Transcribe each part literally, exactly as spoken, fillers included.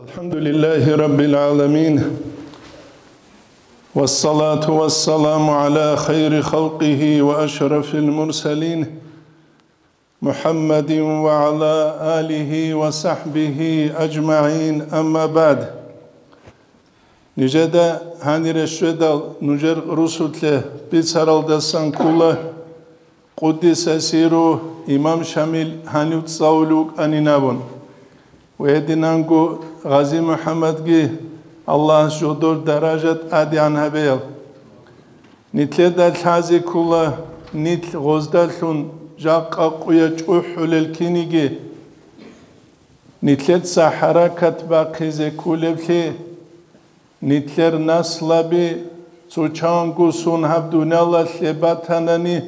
الحمد لله رب العالمين، والصلاة والسلام على خير خلقه وأشرف المرسلين، محمد وعلى آله وصحبه أجمعين، أما بعد. Нижеда гьанире щведал нужер русулъе бицаралдасан ккола, къуддиса сирругьу, имам Шамил гьанив цӀалулев вукӀанин абун. Ва гьединанго Гъази МухӀаммадги Аллагьас жодор даража тӀадегӀан гьабеял. Нилъеда лъазе ккола, нилъ гъоздалъун жакъа къуя чӀухӀулел киниги. Нилъеца хӀаракат бахъизе кколеблъи, нилъер наслаби цо чанго сон гьаб дуниялалъе батанани,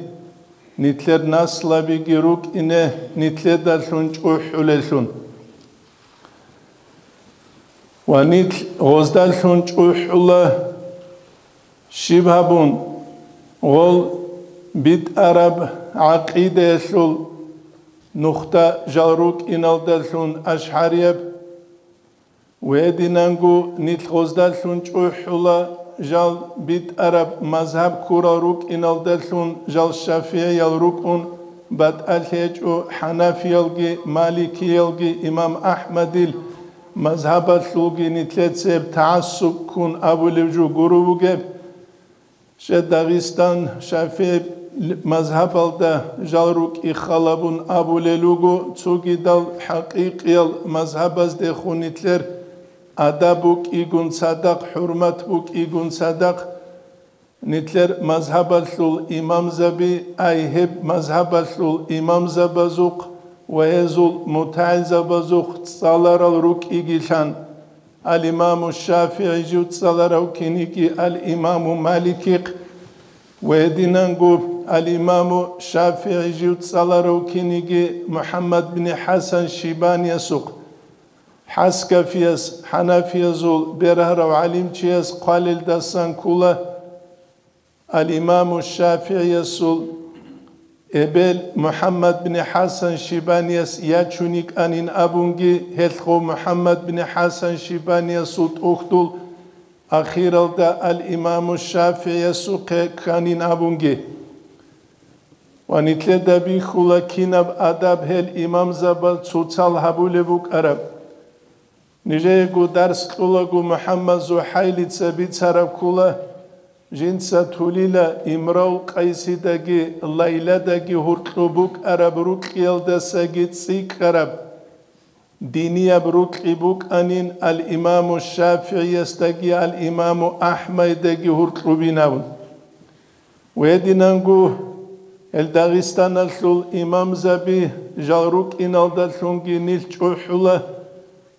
нилъер наслабиги рукӀине нилъедалъун чӀухӀулеллъун. Ва нилъ гъоздалъун чӀухӀула щиб гьабун, гъол битӀараб гӀакъидаялъул нухда жал рукӀиналдалъун ашгӀарияб, ва гьединанго нилъ гъоздалъун чӀухӀула жал битӀараб мазгьаб ккурал рукӀиналдалъун жал шафигӀиял рукӀун батӀалъи гьечӀо хӀанафиялги, маликиялги, имам АхӀмадил мазгьабалъулги нилъеца гьеб тагӀассуб ккун абулев жо гуро бугеб. Щай Дагъистан шафигӀи мазгьабалда жал рукӀи халабун абулел руго, цогидал хӀакъикъиял мазгьабаздехун нилъер адаб букӀигун цадахъ, хӀурмат букӀигун цадахъ, нилъер мазгьабалъул имамзаби, ай гьеб мазгьабалъул имамзабазухъ ва гьезул мутагӀилзабазухъ цӀаларал рукӀигилан. Ал-Имаму ШафигӀи жив цӀаларав киниги Ал-Имаму Маликихъ, ва гьединанго Ал-Имаму ШафигӀи жив цӀаларав киниги МухӀаммад бин ХӀасан Шибаниясухъ. ХӀаскафияс, хӀанафиязул бергьарав гӀалимчияс хъвалелдасан ккола, Ал-Имаму ШафигӀиясул эбел МухӀаммад бин ХӀасан Шибанияс ячун йикӀанин абунги, гьелъго МухӀаммад бин ХӀасан Шибаниясул тӀухьдул ахиралда Ал-Имаму ШафигӀиясухъе кканин абунги. Ва нилъеда бихьула кинаб адаб гьел имамзабаз цоцал гьабулеб букӀараб. Нижеего дарс кьолаго МухӀаммад ЗухӀайлица бицараб ккола, жинца тулила Имрул Къайсидаги Лайладаги гьуркьу букӀараб рукьиялдасаги цӀикӀкӀараб динияб рукьи букӀанин Ал-Имаму ШафигӀиясдаги Ал-Имаму АхӀмайдаги гьуркьу бинабун. Гьединанго гьел Дагъистаналъул имамзаби жал рукӀиналдалъунги нилъ чӀухӀула,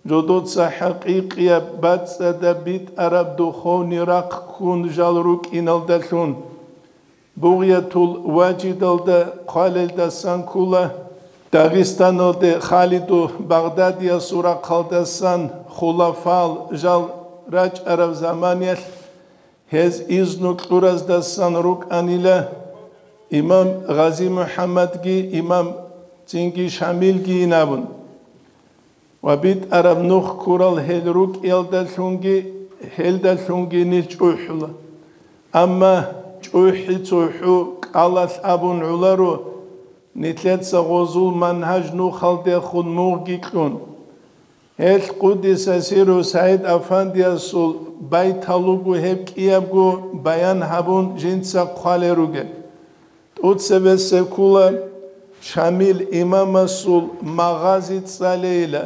жодоца хӀакъикъияб бацӀцӀадаб битӀараб духовный рахъ ккун жал рукӀиналдалъун. Бугъиятул Важидалда хъвалелдасан ккола, Дагъистаналде Халиду Багъдадиясул рахъалдасан хулафал жал рачӀараб заманиялъ, гьез изну кьураздасан рукӀанила имам Гъази МухӀаммадги имам цинги Шамилгийин абун. Ва битӀараб нух ккурал гьел рукӀиялдалъунги, гьелдалъунги нилъ чӀухӀула. Амма чӀухӀи цохӀо кӀалалъ абун гӀоларо, нилъеца гъозул манхӀаж нухалдехун мугъги кьун. Гьелъ къуддиса сирругьу СагӀид Афандиясул байтал руго гьеб кӀиябго баян гьабун жинца хъвалел ругел. ТӀуцебесеб ккола Шамил имамасул магъази цӀалейила.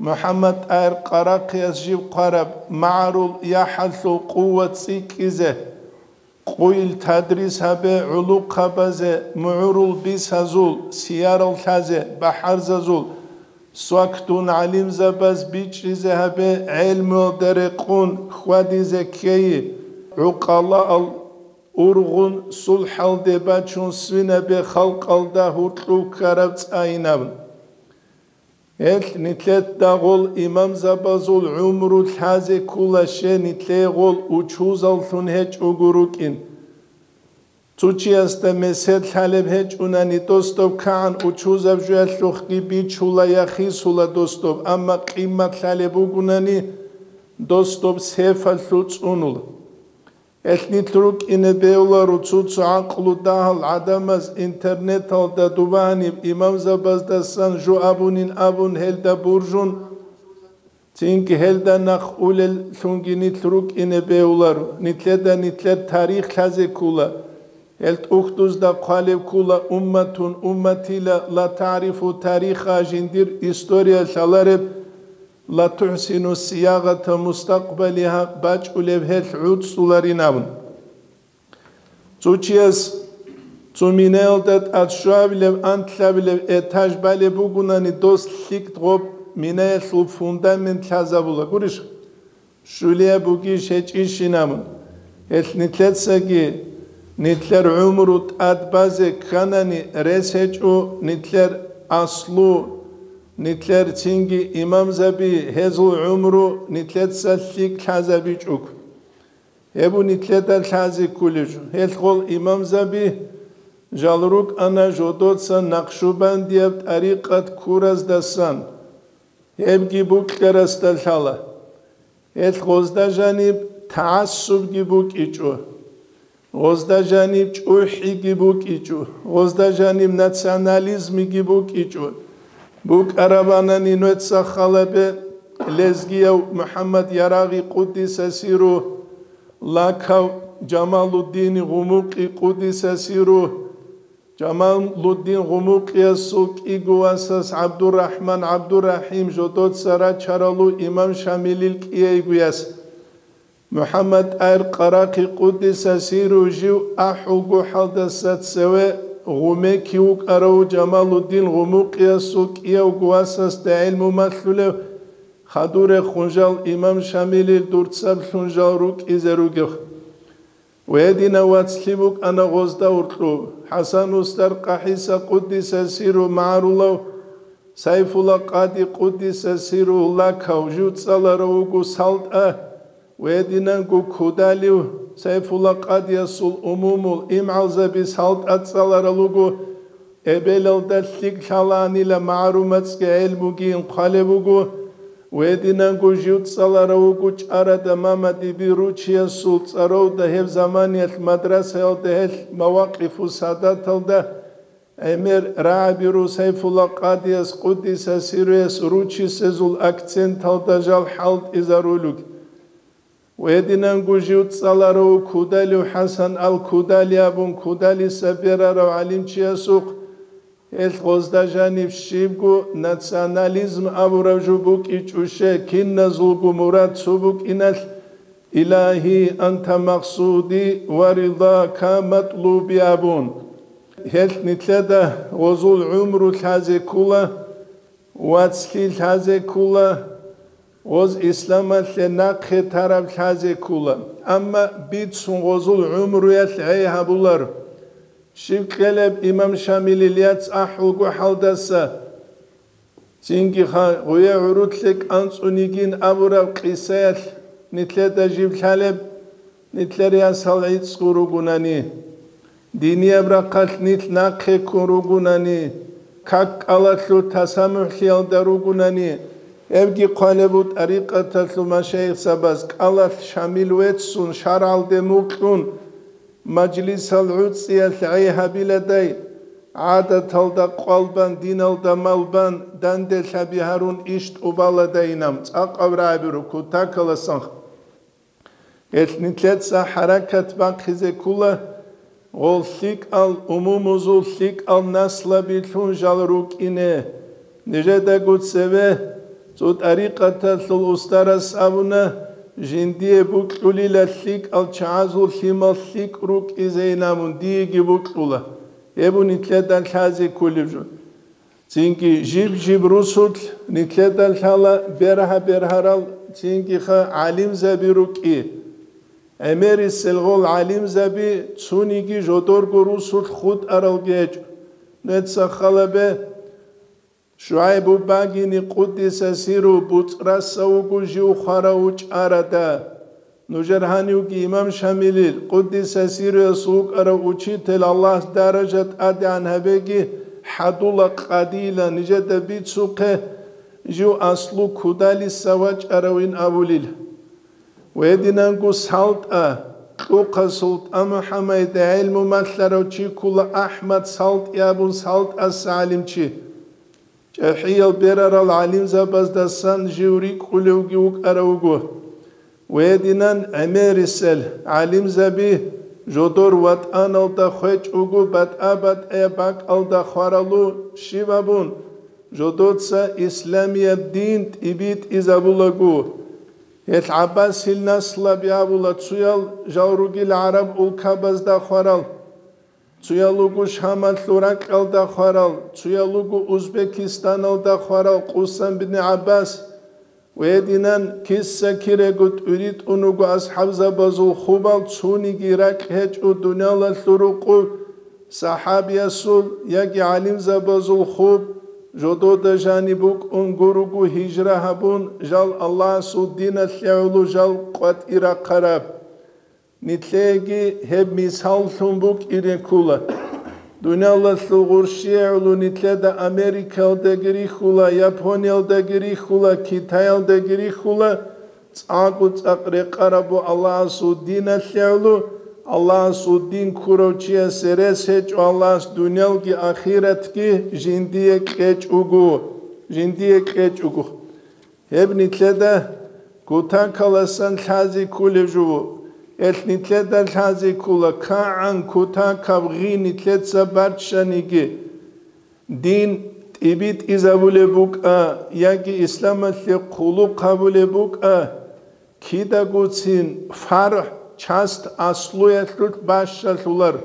МухӀаммад ТӀагьир Къарахъияс жиб хъвараб магӀарул яхӀалъул къуват цӀикӀкӀизе, къуйил тадрис гьабе гӀулухъабазе, мугӀурул бисазул, сиярал лъазе, бахӀарзазул, свакдун гӀалимзабаз бичӀчӀизе гьабе, гӀелмуялда рекъон хьвадизе ккейи, гӀукъалаал ургъун сулхӀалде бачун свинабе халкъалда гьуркьув ккараб цӀайинаб. Гьелъ нилъеда гъол имамзабазул гӀумру лъазе ккола, щай нилъее гъол учузаллъун гьечӀого рукӀин. Цо чиясда месед лъалеб гьечӀунани, дос доб кагӀан учузаб жоялъухъги бичула, яхисула дос доб, амма къиммат лъалеб бугунани, дос доб сефалъул цӀунула. Гьелъ нилъ рукӀине бегьуларо цо-цо гӀакълу дагьал гӀадамаз интернеталда дубаниб имамзабаздасан жо абунин абун гьелда буржун, цинги гьелда нахъ улеллъунги нилъ рукӀине бегьуларо. Нилъеда нилъер тарих лъазе ккула. Гьел тӀухьдузда хъвалеб ккула: «Умматун умматила ла таърифу тариха», жиндир история лъалареб, «ла тухӀсину сиягъата мустакъбалиха», бачӀулеб гьелъ гӀуцӀцӀуларин абун. Цо чияс цо минаялда тӀад щуабилеб, анлъабилеб этаж балеб бугунани, дос лъикӀ гъоб минаялъул фундамент лъазабула. Гурищ, щулияб бугищ гьечӀищин абун. Гьелъ нилъецаги нилъер гӀумру тӀад базе кканани рес гьечӀо, нилъер аслу, нилъер цинги имамзаби, гьезул гӀумру нилъеца лъикӀ лъазабичӀого. Гьеб нилъеда лъазе кколеб жо. Гьелъ гъол имамзаби жал рукӀана жодоца накъшубандияб тӀарикъат ккураздасан, гьебги букьарасда лъала. Гьелъ гъозда жаниб тагӀассубги букӀичӀо, гъозда жаниб чӀухӀиги букӀичӀо, гъозда жаниб национализмиги букӀичӀо. БукӀарабанани нуца халабе лезгияв МухӀаммад Ярагъи къуддиса сиру, лакав Жамалуддин Гъумукъи къуддиса сиру, Жамалуддин Гъумукъиясул кӀиго васас ГӀабдурахӀман, ГӀабдурахӀим, жодоца рачаралу имам Шамилил кӀияйгояс. МухӀаммад ТӀагьир Къарахъи къуддиса сиру жив ахӀулгохӀалдаса цеве гъумеки вукӀарав Жамалуддин Гъумукъиясул кӀиявго васасда гӀелму малъулев, хадур рехун жал имам Шамилил дурцаблъун жал рукӀизе ругев. Гьединав вацлъи букӀана гъозда уркьуб: ХӀасан устар КъахӀиса къуддиса сиру магӀарулав, Сайфула къади къуддиса сиру лакав, жив цӀаларав вуго СалтӀа, гьединанго кудалив, Сайфула къадиясул умумул имгӀалзаби СалтӀа цӀаларал руго, эбелалда лъикӀ лъалаанила магӀарумацӀги гӀелмуги хъвалеб буго, гьединанго жив цӀаларав вуго ЧӀарада Мамадиби ручиясул цӀаравда гьеб заманиялъ мадрасаялда гьелъ Мавакъифу Садаталда гӀемер рагӀаби ру Сайфула къадияс къуддиса сируяс ручисезул акценталда жал хӀалтӀизарулуг. Гьединанго жив цӀаларав Кудалив ХӀасан ал-Кудали абун Кудалиса берарав гӀалимчиясухъ, гьелъ гъозда жаниб щибго национализм абураб жо букӀичӀуще, киназулго мурад цо букӀиналъ, «Илагьи, анта макъсуди ва ридака матлуби», абун. Гьелъ нилъеда гъозул гӀумру лъазе ккула, вацлъи лъазе ккула, гъоз исламалъе нахъе тараб лъазе ккула. Амма бицун гъозул гӀумруялъ гӀей гьабулар. Щиб кьелеб имам Шамилил яц ахӀулгохӀалдаса, цинги ха-, гъуя гӀурулъе кӀанцӀун йигин абураб къисаялъ нилъеда жиб лъалеб, нилъер ясал гӀицӀго ругунани, динияб рахъалъ нилъ нахъе ккун ругунани, как кӀалалъур тасамухӀлъиялда ругунани, гьебги хъвалеб бу тӀарикъаталъул машайихзабаз кӀалалъ Шамил веццун, шаргӀалде мукьун, мажлисал гӀуцӀиялъ гӀей гьабиладай, гӀадаталда къвалбан, диналда малбан, данделъаби гьарун иш тӀубаладайинам, цӀакъаб рагӀабиро кутакаласан. Гьелъ нилъеца хӀаракат бахъизе ккула, гъол лъикӀал умумузул лъикӀал наслабилъун жал рукӀине. Нижедаго цеве цо тӀарикъаталъул устарас абуна, жиндие букьулила лъикӀал чагӀазул лъимал лъикӀ рукӀизейин абун диеги букьула, гьеб нилъеда лъазе кколеб жо. Цинги жиб-жиб русулъ нилъеда лъала бергьа-бергьарал, цинги ха гӀалимзаби рукӀи. ГӀемерисел гъол гӀалимзаби цуниги жодорго русулъ хутӀаралги гьечӀо. Нуца халабе, ШугӀайбу Багини къуддиса сиру буцӀраса вуго жив хварав вучӀарада. Нужер гьанивги имам Шамилил, къуддиса сирруясул вукӀарав учитель, Аллагьас даража тӀадегӀан гьабеги, хӀадула къадила нижеда бицухъе, жив аслу кудалиса вачӀаравин абулил. Гьединанго СалтӀа, Кьухъа СултӀа-МухӀаммадида гӀелму малъарав чи ккола АхӀмад СалтӀи абун, СалтӀаса гӀалимчи. ЧӀехӀиял берарал гӀалимзабаздасан жив рикӀкӀулевги вукӀарав вуго. Гьединан гӀемерисел гӀалимзаби жодор ватӀаналда хвечӀого, батӀа-батӀаяб бакӀалда хваралу, щиб абун, жодоца исламияб дин тӀибитӀизабулаго. Гьел гӀаббасил наслаби абула, цоял жал ругел гӀараб улкабазда хварал, цоял руго Шамалъул ракьалда хварал, цоял руго Узбекистаналда хварал Къусан бин ГӀаббас. Гьединан киса-кирего тӀуритӀун вуго асхӀабзабазул хубал, цониги ракь гьечӀо дуниялалъул рукъу сахӀабиясул яги гӀалимзабазул хуб, жодода жаниб букӀун гуруго, гьижра гьабун, жал Аллагьасул диналъе гӀоло жал къватӀир рахъараб. Нилъееги гьеб мисаллъун букӀине ккола. Дуниялалъул гъурщие гӀоло нилъеда Америкаялдаги рихьула, Япониялдаги рихьула, Китаялдаги рихьула, цӀакъго цӀакъ рекъараб буго Аллагьасул диналъе гӀоло. Аллагьасул дин ккурав чиясе рес гьечӀо Аллагьас дуниялги ахиратги жиндие кьечӀого, жиндие кьечӀого. Гьеб нилъеда кутакаласан лъази кколеб жо. Гьелъ нилъеда лъази ккола, кагӀан кутакаб гъи нилъеца баччаниги, дин тӀибитӀизабулеб букӀа яги исламалъе хъулухъ гьабулеб букӀа, кидагоцин фаргӀ, часть, аслуялъулъ бащалъулар.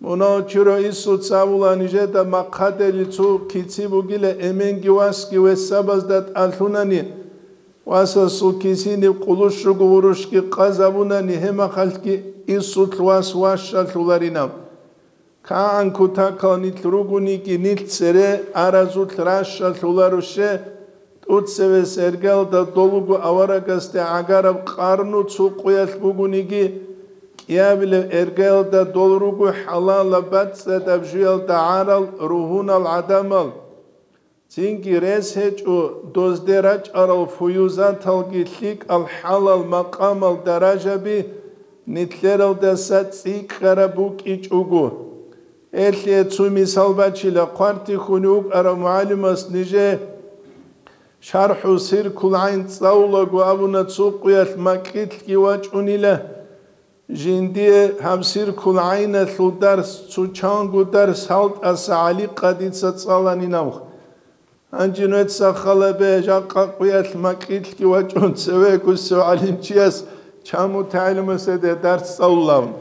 Мунагьал чуро Иисуца абула, нижеда махъаделил цо кици бугила, эменги васги весабазда тӀалъунани, васасул кисиниб къулущ руго гъурущги къазабунани, гьебмахалъги Иисулъ вас ващалъуларинаб. КагӀан кутакал нилъ ругониги, нилъ цере аразулъ ращалъуларо ще, тӀуцевес эргалда долго аварагасде гӀагараб къарну цо къуялъ бугониги, кӀиабилеб эргаялда дол руго хӀалалаб бацӀцӀадаб жуялда гӀарал ругьунал гӀадамал. Цинги рес гьечӀо дозде рачӀарал фуюзаталги лъикӀал хӀалал макъамал даражаби нилъералдаса цӀикӀкӀараб букӀичӀого. Гьелъие цо мисал бачила, хъвартихьунев вукӀарав мугӀалимас нижее ШархӀу Сиркул ГӀайн цӀалулаго абуна, цо къуялъ макьилъги вачӀунила. Жиндие гьаб Сиркул ГӀайналъул дарс, цо чанго дарс СалтӀаса ГӀаликъа дица цӀаланинавха. Гьанже нужеца хал гьабе, жакъа къуялъ макьилъги вачӀун цеве гусев гӀалимчияс чан мутагӀилимасде дарс цӀалулавун.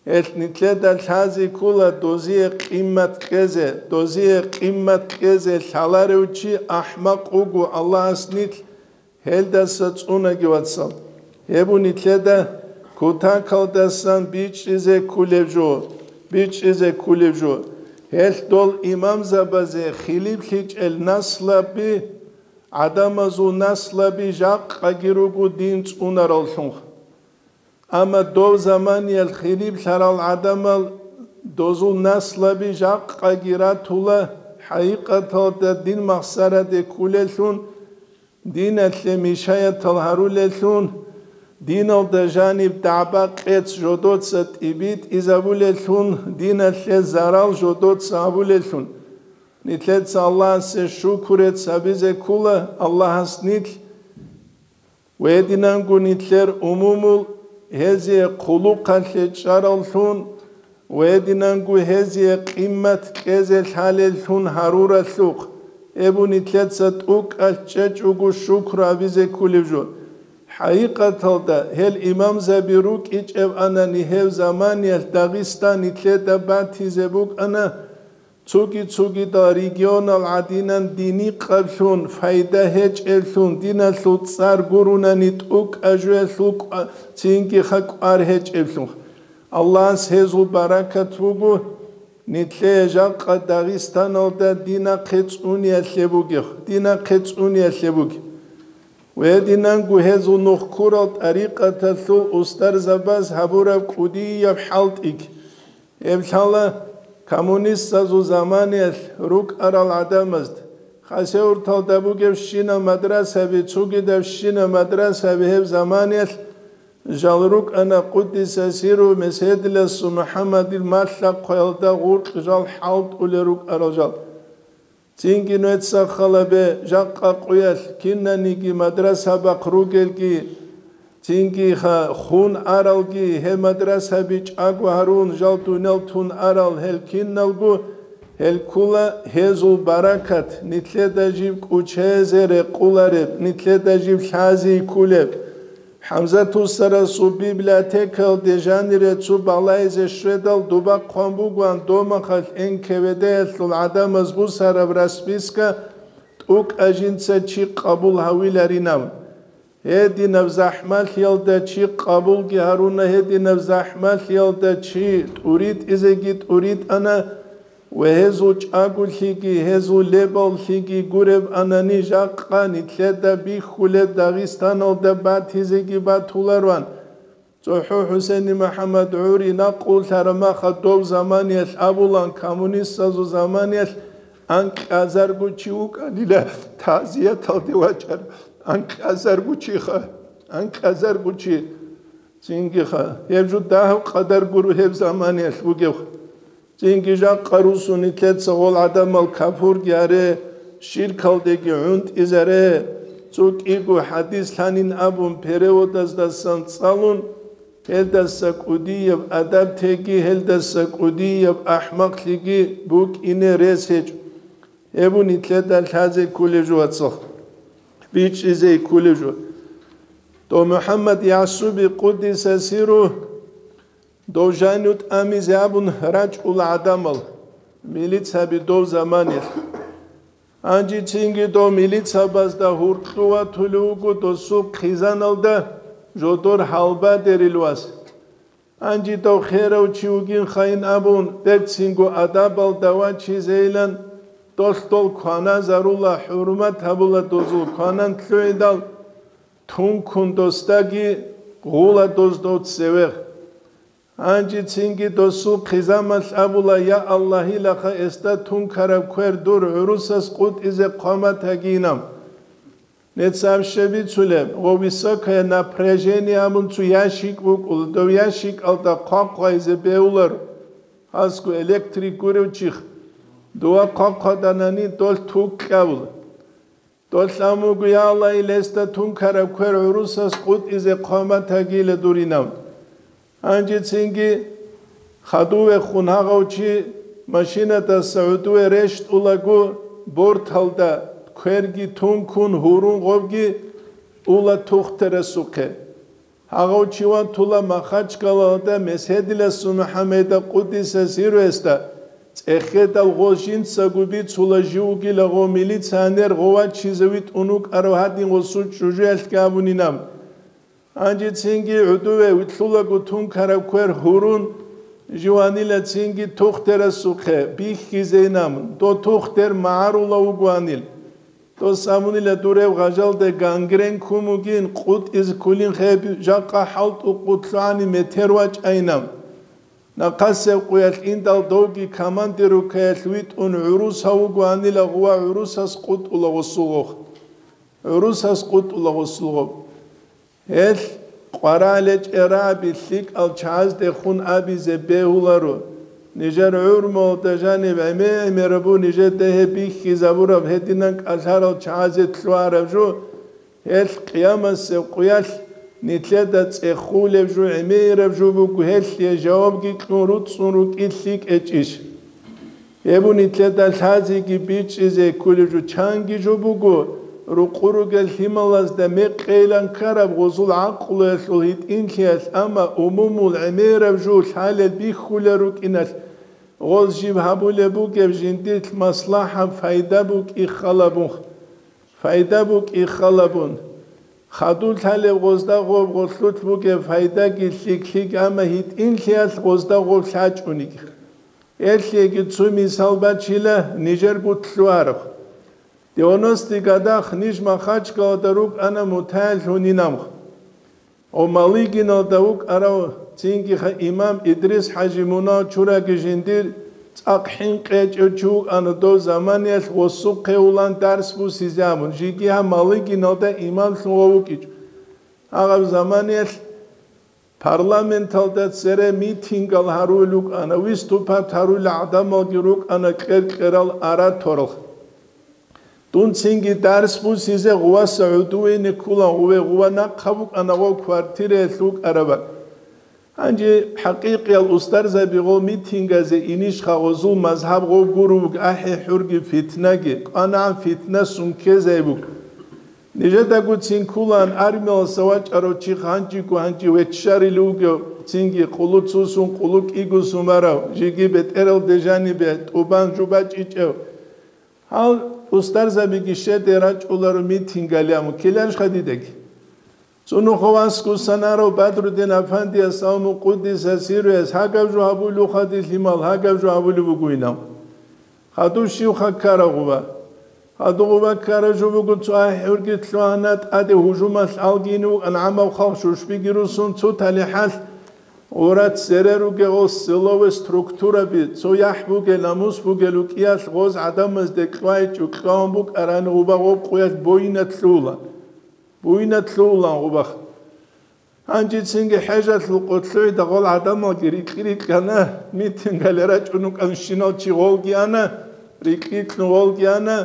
Гьелъ нилъеда лъази ккола дозие къиммат кьезе, дозие къиммат кьезе лъаларев чи ахӀмакъ вуго, Аллагьас нилъ гьелдаса цӀунаги, вацал. Гьеб нилъеда кутакалдасан бичӀчӀизе кколеб жо, бичӀчӀизе кколеб жо. Гьелъ дол имамзабазе хилиплъичӀел наслаби, гӀадамазул наслаби жакъаги руго дин цӀунараллъунха. Амма дов заманиялъ хилиплъарал гӀадамал, дозул наслаби жакъаги ратула, хӀакъикъаталда дин махсараде кколеллъун, диналъе мешаятал гьарулеллъун, диналда жаниб дагӀба-къец жодоца тӀибитӀизабулеллъун, диналъе зарал жодоца гьабулеллъун. Нилъеца Аллагьасе шукру гьабизе ккола, Аллагьас нилъ ва гьединанго нилъер умумул гьезие хъулухъалъе чӀараллъун, ва гьединанго гьезие къиммат кьезе лъалеллъун гьаруралъухъ, гьеб нилъеца тӀокӀалъ чӀечӀого шукру гьабизе кколеб жо. ХӀакъикъаталда, гьел имамзаби рукӀичӀеб анани, гьев заманиялъ Дагъистан нилъеда батизе букӀана, цоги-цогидал регионал гӀадинан динихъаблъун, пайда гьечӀеблъун, диналъул цӀар гурунани тӀокӀаб жоялъул кӀва-, цинги хакӀвар гьечӀеблъун. Аллагьас гьезул баракат буго, нилъее жакъа Дагъистаналда динахъе цӀуниялъе бугеб, динахъе цӀуниялъе бугеб. Гьединанго гьезул нух ккурал тӀарикъаталъул устарзабаз гьабураб кӀудияб хӀалтӀиг. Гьеб лъала коммунистазул заманиялъ рукӀарал гӀадамазда, Хасавюрталда бугебщинаб мадрасаби, цогидабщинаб мадрасаби гьеб заманиялъ жал рукӀана, къуддиса сирругьу, Меседиласул МухӀаммадил малъа-хъваялда гъуркь жал хӀалтӀулел рукӀарал жал. Цинги нугьеца хал гьабе, жакъа къуялъ кинаниги мадрасабахъ ругелги, цинги ха-, хун аралги, гьеб мадрасаби чӀаго гьарун жал дуниял тун арал гьел киналго, гьел ккула гьезул баракат, нилъеда жиб кӀучезе рекъулареб, нилъеда жиб лъази ккулеб. ХӀамзат устарасул библиотекаялде жанире цо балайзе щведал, доба хъван бугоан домахалъ Н К В Д-ялъул гӀадамаз бусараб расписка, тӀукӀа жинца чи къабул гьавиларинав. Гьединаб захӀмалъиялда чи къабулги гьаруна, гьединаб захӀмалъиялда чи тӀуритӀизеги тӀуритӀана, ва гьезул чӀаголъиги, гьезул лебаллъиги гуреб анани, жакъа нилъеда бихьулеб Дагъистаналда батизеги батулароан. ЦохӀо ХӀусени МухӀаммад гӀури накъуллъараб маха дов заманиялъ абулан, коммунистазул заманиялъ анкьазарго чи вукӀанила, тазияталде вачӀар анкьазарго чиха, анкьазарго чи. Цинги ха, гьеб жо дагьаб къадар гуро гьеб заманиялъ бугев. Цинги жакъа русун нилъеца гъол гӀадамал капурги гьаре, ширкалдеги гӀунтӀизаре, цо кӀиго хӀадис лъанин абун переводаздасан цӀалун, гьелдаса кӀудияб адаб теги, гьелдаса кӀудияб ахӀмакълъиги букӀине рес гьечӀо. Гьеб нилъеда лъазе кколеб жо, вацал, бичӀчӀизе кколеб жо. Дов МухӀаммад ЯгӀсуби, къуддиса сирругьу, дов жанив тӀамизе абун рачӀула гӀадамал, милицаби дов заманиялъ. Гьанжецинги дов милицабазда гьуркьу ватулев вуго досул хъизаналда жодор гьалбадерил вас. Гьанже дов херав чи вугин хайин абун, берцинго адабалда вачизейилан, долъ дол кваназарула, хӀурмат гьабула дозул кванан лъугӀидал, тункун досдаги гъула доз дов цеве. Гьанжецинги досул хъизамалъ абула: «Я Аллагьилаха, эсда тункараб квер дур гӀурусас къутӀизе хъвамат гьагинаб». Нецаб щиб бицулеб, гъо высокое напряжение абун цо ящик букӀула, дов ящикалда хъвахъвайзе бегьулар, гьасго электрик гурев чих, дова хъвахъваданани долъ туккьавула. Долъ амуго, я Аллагь, илесда тункараб квер гӀурусас къутӀизе хъвамат гьагила дуринав. Гьанжецинги хадувехун гьагъав чи машинадаса гӀудуве рещтӀулаго, борталда кверги тункун гьурун гъобги ула тухтерасухъе. Гьагъав чи ватула Махачкалалда Меседиласул МухӀаммеда, къуддиса сирругьу, цӀехедал гъо жинцаго бицула, жив вугила гъо милиционер, гъо вачизе витӀун вукӀарав гьадин гъосул чӀужуялъги абунинаб. Гьанжецинги гӀудуве вилълъулаго тункараб квер гьурун, живанила цинги тухтерасухъе бихьизейнаб, дов тухтер магӀарула вугоанил. Дос абунила дурев гъажалде гангрен ккун бугин, къутӀизе кколин хеб жакъа хӀалтӀухъ лъугӀани метер вачӀайнаб. Нахъасеб къуялъ индал довги командировкаялъ витӀун гӀурус гьавугоанила гъува гӀурусас къутӀула гъосулгъохъ. ГӀурусас къутӀула гъосулгъо. Гьелъ къваралечӀераби лъикӀал чагӀаздехун абизе бегьуларо. Нижер гӀурмалда жаниб гӀемер-гӀемераб нижеда гьеб бихьизабураб гьединан кӀалъарал чагӀазе лъугьараб жо, гьелъ къиямасеб къуялъ нилъеда цӀехулеб жо гӀемераб жо буго, гьелъие жавабги кьун руцӀцӀун рукӀин лъикӀ гьечӀищ? Гьеб нилъеда лъазеги бичӀчӀизе кколеб жо чанги жо буго, рукъу ругел лъималазда мекъейилан ккараб гъозул гӀакълуялъул гьитӀинлъиялъ, амма умумул гӀемераб жо лъалел бихьулел рукӀиналъ, гъоз жиб гьабулеб бугеб жиндилъ маслахӀаб пайда букӀи халабун. Пайда букӀи халабун. Хадур лъалеб гъозда гъоб гъолъулъ бугеб пайдаги лъикӀ-лъикӀ, амма гьитӀинлъиялъ гъозда гъоб лъачӀуниг. Гьелъиеги цо мисал бачила, нижерго лъугьараб. Девяностый годах ниж Махачкалада рукӀана мутагӀил гьунинамха. Гъо Малыгиналда вукӀарав цинги-ха имам Идрис-хӀажи Мунал чураги жиндир цӀакъ хӀинкъи гьечӀев чи вукӀана дов заманиялъ гъосухъе вулан дарс бусизе абун, жиги гьаб Малыгиналда имамлъун гъов вукӀичӀо. Гьагъаб заманиялъ парламенталда цере митингал гьарулел рукӀана, выступать гьарулел гӀадамалги рукӀана кьер-кьерал ораторал. Дун цинги дарс бусизе гъуваса гӀодове ккула, гъуве гъува нахъа букӀана гъов квартираялъ вукӀараб бакӀ. Гьанже хӀакъикъиял устарзаби гъол митингазе инищха гъозул мазгьаб гъов гуро вуго, ахӀи-хӀурги фитнаги, кӀванагӀан фитнасун ккезай буго. Нижедагоцин ккулаан армиялдаса вачӀарав чи ханчӀиго гьанчӀи веччарил вугев, цинги къулуцусун къулу кӀигосун варав, жеги бетӀералде жанибе тӀубан жубачӀичӀев. Гьал устарзабиги щеде рачӀуларо митингалъ, амма ккеларищха дидаги? Цунухъа васгу санарав Бадрудин Афандияс, Алму Къуддиса Сируяс, гьагаб жо гьабулухъа дилъимал, гьагаб жо гьабулеб бугойинав. Хадув щивха ккарав гъуба? Хадув гъуба ккарав жо буго, цо ахӀурги лъугьана, тӀаде гьужумалъ алгийин вукӀан гӀамав халкъ шушбиги русун, цо талихӀалъ гъура цере ругел силовый структураби, цо яхӀ бугел, намус бугел рукӀиялъ гъоз гӀадамазде кьвайчӀо кьавун букӀарани гъуба гъоб къуялъ буйнат лъугьула. Буйнат лъугьулан гъубах. Гьанжецинги хӀежалъул къотлъугӀида гъол гӀадамалги рикьи-рикьана, митингалъе рачӀун вукӀанщинал чи гъолги ана, рикьи-рикьун гъолги ана,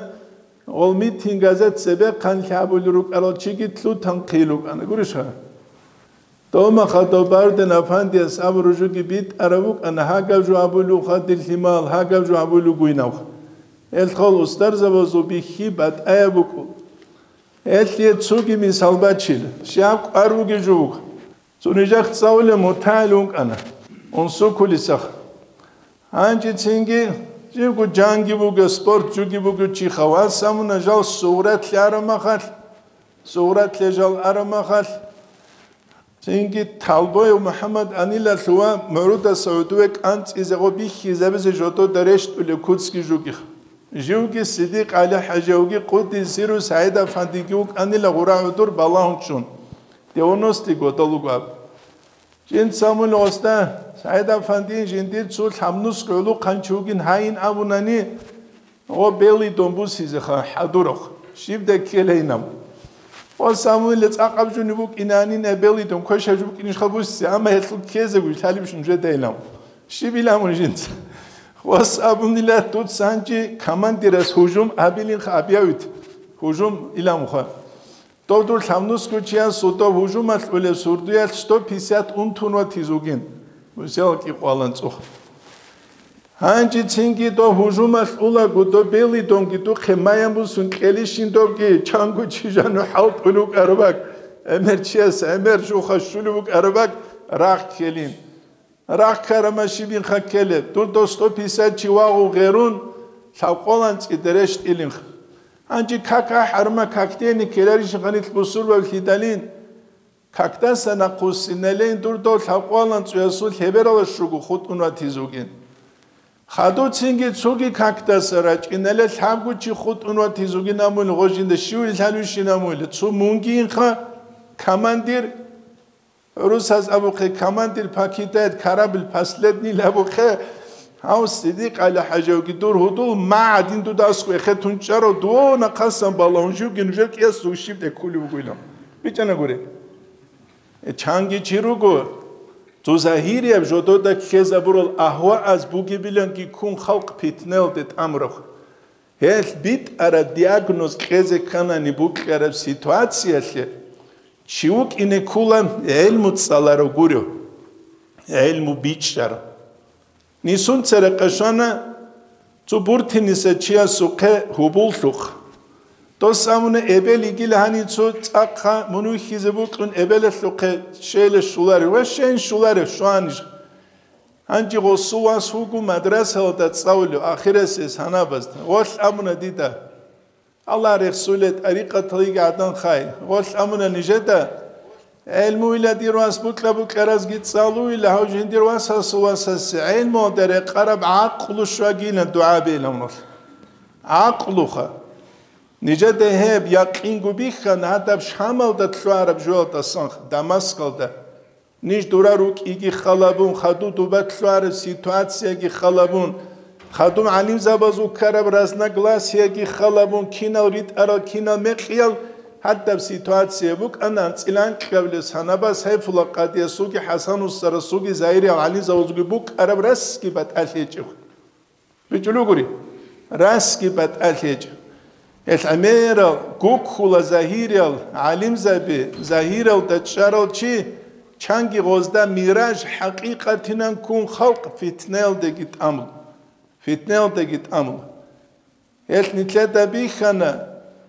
гъол митингазе цебехъан лъабулел рукӀарал чиги лъутан хъил рукӀана. Гурищха? Дома хадуб Бадрудин Афандияс абураб жоги битӀараб букӀана, гьагаб жо гьабулухъа дилъимал, гьагаб жо гьабулугуйнавха. Гьелъ гъол устарзабазул бихьи батӀаяб букӀун. Гьелъие цоги мисал бачила, щиб кӀвар бугеб жо буго. Цо нижехъ цӀалулеб мутагӀил вукӀана, унсукулесахъ. Гьанжецинги живго жанги буго, спорт жуги буго, чи хавас гьамуна жал сугъратлъи араб махалъ, сугъратлъи жал араб махалъ, цинги Талбоев МухӀаммад анилалъув ва мугӀрудаса гӀодове кӀанцӀизе гъо бихьизабизе жодода рещтӀулеб куцги жугих. Живги Сидикъ ГӀали ХӀажиевги Къуддиса сирругьу СагӀид-Афандиги вукӀанила гъура гӀодор балагьун чӀун, девяностый годал вуго аб. Жинца мун гъосда, СагӀид-Афандин, жиндир цо лъабнусго гӀолохъанчи вугин гьайин абунани, гъо белый дом бусизеха хӀадурахъ, щибдай ккелайинаб. Гъос абунила цӀакъаб жони букӀинанин, э, белый дом квешаб жо букӀинищха бусизе, амма гьелъул ккезего лъалебищ нужедайилан. Щиб иламун жинца? Гъос абунила, дуца гьанже командирас гьужум абилинха, объявить. Гьужум иламуха. Дов дур лъабнусго чиясул дов гьужумалъ улеб сурдуялъ сто пятьдесят унтун ватиз вугин. Мусиял кӀикъвалан цӀух. Гьанжецинги дов гьужумалъ улаго, дов белый домги духъе майян бусун кьелищин довги, чанго чи жану хӀалтӀулев вукӀараб бакӀ, гӀемер чияс гӀемер жуха щулев вукӀараб бакӀ, рагъ ккелин. Рагъ ккараб машининха ккелеб, дур дов сто пятьдесят чи вагъу гъерун, лъабкъолан цӀида рещтӀилинха. Гьанже как ахӀарма, какдени ккеларищин гъанилъ бусурбаб лъидалин, какдаса нахъвуссиналин дур дов лъабкъолан цӀуясул лъебералаш руго хутӀун ватиз вугин. Хадуцинги цоги какдаса рачӀиналел лъабго чи хутӀун ватиз вугин амули, гъожинда щивли лъалвищин амули, цо мунги инха командир, гӀурусаз абухъе, командир покидает корабль последний абухъе, гьав Сидикъ ГӀали ХӀажиевги дур гьудул ма гӀадин дуда аскӀове хетун чӀаро, дуо нахъасан балагьун живги нужер кӀияс цо щибдай кколев вугойилан. БичӀана гури. Э, чанги чи руго, цо загьирияб жодода ккезабурал агьвааз бугебиланги ккун халкъ питнаялде тӀамураб. Гьелъ битӀараб диагноз кьезе кканани букьараб ситуациялъе чи вукӀине ккулан гӀелму цӀаларо гуро, гӀелму бичӀчӀаро. Нисун церекъе щвана цо буртиниса чиясухъе гьубуллъухъ. Дос абуна, эбел йигила гьанив цо цӀакъха мун вихьизе букьун, эбелалъухъе щейила щуларев ва щейин щуларев щванищ. Гьанже гъосул вас вуго мадрасалда цӀалулев, ахирасеб санабазда. Гъолъ абуна дида: Аллагь рехсулел тӀарикъаталиги гӀадан хай. Гъолъ абуна нижеда: гӀелмуйила дир вас букьа-букьаразги цӀалуйила, гьав жиндир васасул васасе гӀелмуялда рекъараб гӀакълу щвагийилан дугӀа бейилан гъолъ. ГӀакълуха. Нижеда гьеб якъинго бихьана гьадаб Шамалда лъугьараб жоялдасан Дамаскалда. Ниж дура рукӀиги халабун, хадуб дуба лъугьараб ситуацияги халабун, хадуб гӀалимзабазул ккараб разногласияги халабун, кинал ритӀарал, кинал мекъиял, гьадаб ситуация букӀана анцӀила анкьабилеб санабаз Сайфулла къадиясулги ХӀасан устарасулги загьириял гӀалимзабазулги букӀараб расги батӀалъи гьечӀеб. БичӀчӀулугури, расги батӀалъи гьечӀо. Гьел гӀемерал, гуккула загьириял гӀалимзаби, загьиралда чӀарал чи, чанги гъозда мираж хӀакъикъатинан ккун халкъ фитнаялдаги тӀамула. Фитнаялдаги тӀамула. Гьел нилъеда бихьана,